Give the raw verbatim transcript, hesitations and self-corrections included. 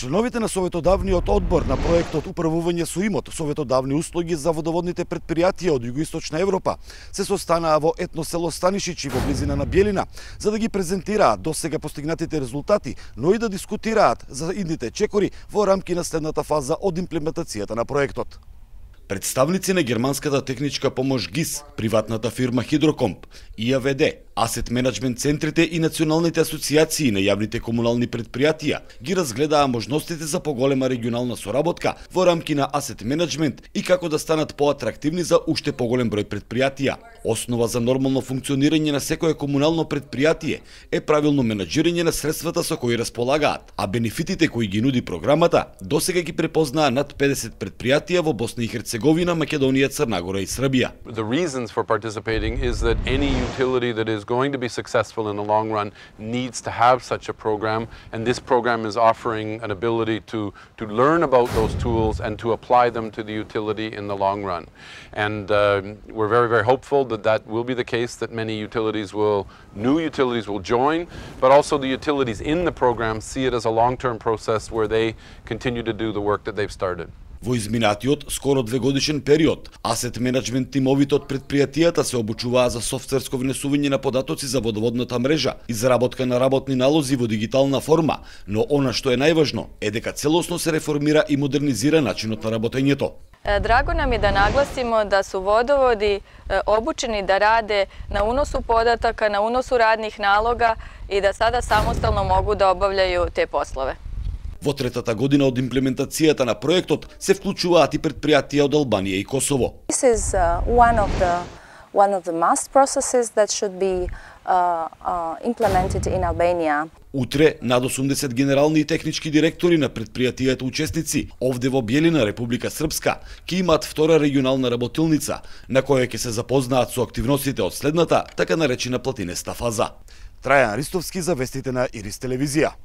Членовите на Советодавниот одбор на проектот Управување со имот, советодавни услуги за водоводните предпријатија од Југоисточна Европа се состанаа во етно село Станишичи во близина на Бјелина, за да ги презентираат досега постигнатите резултати, но и да дискутираат за идните чекори во рамки на следната фаза од имплементацијата на проектот. Представници на германската техничка помош ГИС, приватната фирма Хидрокомп, И А В Д, Асет менеджмент центрите и националните асоциации на јавните комунални предпријатија ги разгледаа можностите за поголема регионална соработка во рамки на асет менеджмент и како да станат поатрактивни за уште поголем број предпријатија. Основа за нормално функционирање на секое комунално предпријатие е правилно менаџирање на средствата со кои располагаат, а бенефитите кои ги нуди програмата досега ги препознаа над педесет предпријатија во Босна и Херцеговина, Македонија, Црна Гора и Србија. The reasons for participating is that any utility that is going to be successful in the long run needs to have such a program, and this program is offering an ability to to learn about those tools and to apply them to the utility in the long run. And uh, we're very, very hopeful that that will be the case, that many utilities will, new utilities will join, but also the utilities in the program see it as a long-term process where they continue to do the work that they've started. Во изминатиот, скоро двегодишен период, асет менеджмент тимовите од предпријатијата се обучуваа за софтверско внесување на податоци за водоводната мрежа, изработка на работни налози во дигитална форма, но она што е најважно е дека целосно се реформира и модернизира начинот на работењето. Drago nam je da naglasimo da su vodovodi obučeni da rade na unosu podataka, na unosu radnih naloga i da sada samostalno mogu da obavljaju te poslove. Во третата година од имплементацијата на проектот се вклучуваат и предпријатија од Албанија и Косово. This is uh, one of the one of the must processes that should be uh, uh, implemented in Albania. Утре над осумдесет генерални и технички директори на предпријатијата учесници овде во Бјелина, Република Српска, ќе имаат втора регионална работилница, на која ќе се запознаат со активностите од следната, така наречена платинеста фаза. Трајан Ристовски за вестите на Ирис телевизија.